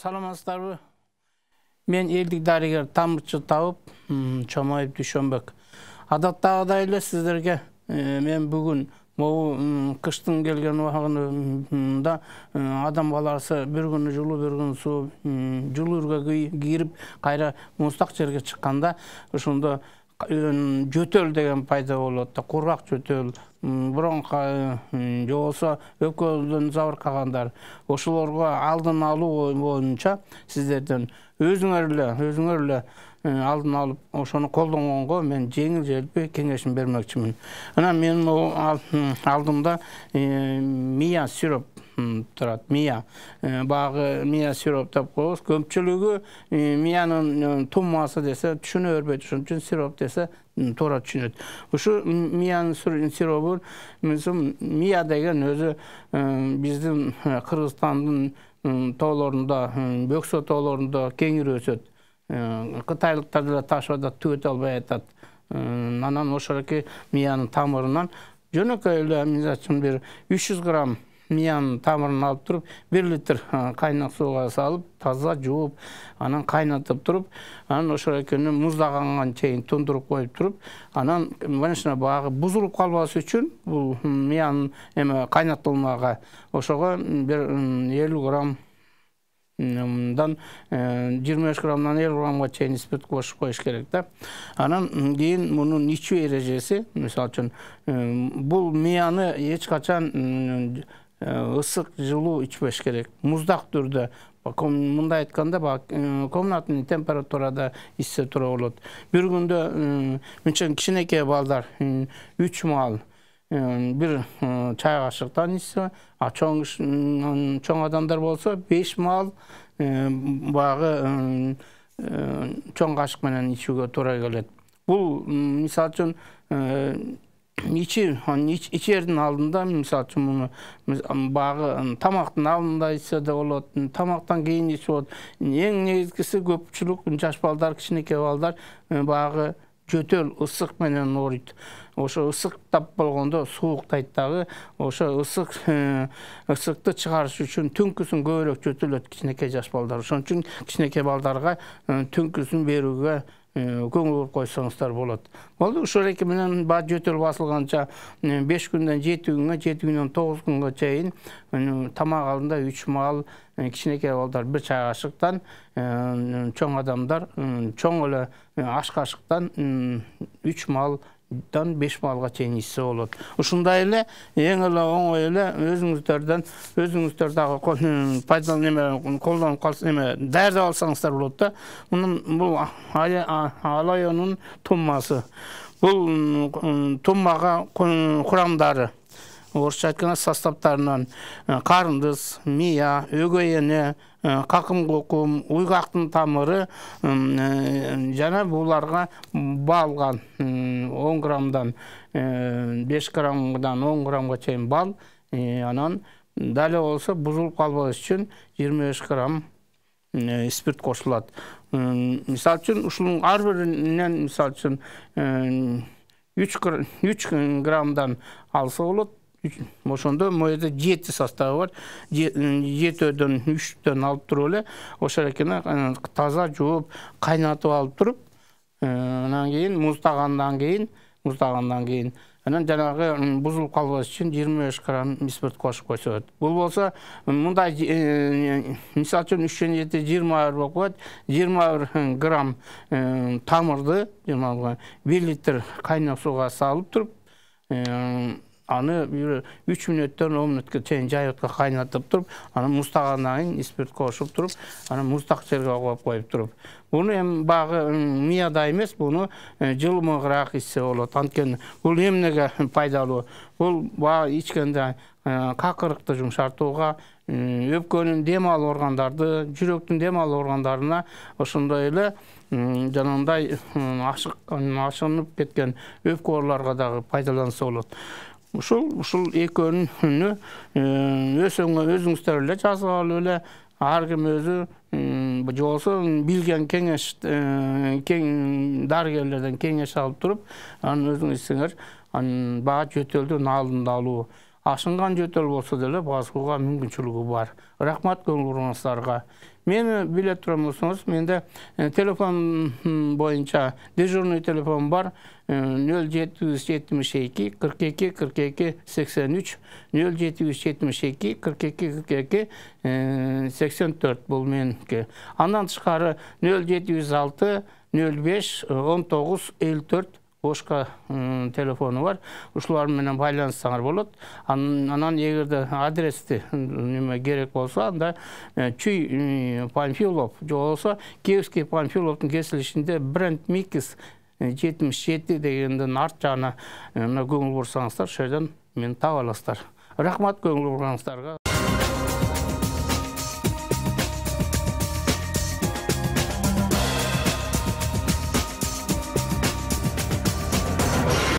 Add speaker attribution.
Speaker 1: Саламатсыздарбы? Мен элдик дарыгер Тамырчы Табып, Чомоев Дүйшөнбек. Адаттагыдай эле сиздерге мен бүгүн могу кыштын келген убагында адам баласы бир күнү жылуу, бир күнү суу, жылуурга кирип, кайра муздак жерге чыкканда ошондо жөтөл деген пайда болот да, кургак жөтөл, бронха же болбосо өпкөдөн забыркагандар. Ошолорго алдын алуу боюнча сиздерден өзүңөр эле алдын алып ошону колдонгонго мен жеңил желпи кеңешин бермекчимин. Анан менин алдымда мия сироп турат. Мия багы мия сироп деп коебуз. Көпчүлүгү миянын туммасы десе түшүнө бербейт, ошон үчүн сироп десе туура түшүнөт. Ушу миянын сиробу, мия деген өзү биздин Кыргызстандын тоолорунда, Бөксө тоолорунда кеңири өсөт. Кытайлыктар деле ташыбада түгөтө албай атат. Анан ошолоки миянын тамырынан жөнөкөй эле мисалы бир 300 грамм миянын тамырын алып туруп, 1 литр кайнак сууга салып, таза жууп, анан кайнатып туруп, анан ошолокени муздаганга чейин тундуруп коюп туруп, анан конечно багы бузулуп калбасы үчүн бул миянын кайнатылмага ошого бир 50 грамм 25 граммдан 50 граммга чейин спирт кошуп коюш керек да. Анан кийин мунун ичүү эрежеси, мисалы үчүн бул мияны эч качан ысык, жылуу ичпеш керек. Муздак түрдө, мындай айтканда, комнатный температурада ичсе туура болот. Бир күндө мынча кичинекей балдар 3 маал бир чай кашыктан ичсе, чоң адамдар болсо 5 маал багы чоң кашык менен ичүүгө туура келет. Бул мисалы үчүн ичердин алдында, мисалы үчүн муну багы тамактын алдында ичсе да болот, тамактан кийин ичсе болот. Эң негизгиси көпчүлүк жаш балдар, кичинекей балдар багы жөтөл, ысык менен ооруйт. Ошо ысыктап болгондо сууктайт дагы, ошо ысыкты чыгарыш үчүн түнкүсүн көбүрөөк жөтөлөт кичинекей жаш балдар. Ошон үчүн кичинекей балдарга түнкүсүн берүүгө көңүл буруп койсоңуздар болот. Болду, ушул эки менен жөтөл басылганча 5 күндөн 7 күнгө, 7 күндөн 9 күнгө чейин тамак алдында 3 маал кичинекей балдар 1 чай кашыктан, чоң адамдар чоң эле аш кашыктан 3 маалдан 5 маалга чейин ичсе болот. Ушундай эле эң эле оңой эле өзүңүздөр дагы колдонуп даярдап алсаңыздар болот да. Бул алайонун туммасы. Бул туммага курамдары, орусча айтканда составтарынан карындыз, мия, өгөй эне, какым кукум, уйгактын тамыры жана буларга балган 10 граммдан 5 граммдан 10 граммга чейин бал, анан дале болсо бузулуп калбаш үчүн 25 грамм спирт кошулат. Мисалы үчүн ушунун ар биринен мисалы үчүн 3 граммдан алса болот. Ошондо моюда 7 составы бар. 7дөн 3дөн алып туруп эле ошолокени таза жууп, кайнатып алып туруп, анан кийин муздагандан кийин анан жанагы бузулуп калбаш үчүн 25 грамм спирт кошуп койсо болот. Бул болсо мындай мисалы үчүн 3-7 20 болуп коет. 21 грамм тамырды 1 литр кайнак сууга салып туруп, аны 3 мүнөттөн 10 мүнөткө чейин жайытка кайнатып туруп, анан муздагандан кийин спирт кошуп туруп, анан муздак жерге коюп туруп. Буну эми багы мияда эмес, буну жылымыгыраак ичсе болот. Анткени бул эмнеге пайдалуу? Бул багы ичкенде какырыкты жумшартууга, өпкөнүн дем алуу органдарды, жүрөктүн дем алуу органдарына, ошондой эле жанагындай ашынып кеткен өпкө ооруларга дагы пайдаланса болот. Ушул экөөнү өзүңүздөр эле жазып алып эле, ар ким өзү же болбосо билген дарыгерлерден кеңеш алып туруп, анан өзүңүз ичсеңер, багы жөтөлдүн алдын алуу. ашынган жөтөл болсо деле басууга мүмкүнчүлүгү бар. Рахмат көңүл буруңуздарга. Мени биле турсаңыз, менде телефон боюнча дежурный телефон бар. 0772 42 42 83 0772 42 42 84 бул меники. Андан тышкары 0706 05 19 54 бошка телефону бар. Ушулар менен байланышсаңар болот. Анан эгерде адрести неме керек болсо, анда Чүй Панфилов же болсо Киевский Панфиловдун кесилишинде Бренд Микс 77 дегенден арт жагына көңүл бурсаңыздар, ошол жерден мени таба аласыздар. Рахмат көңүл бурганыңыздарга.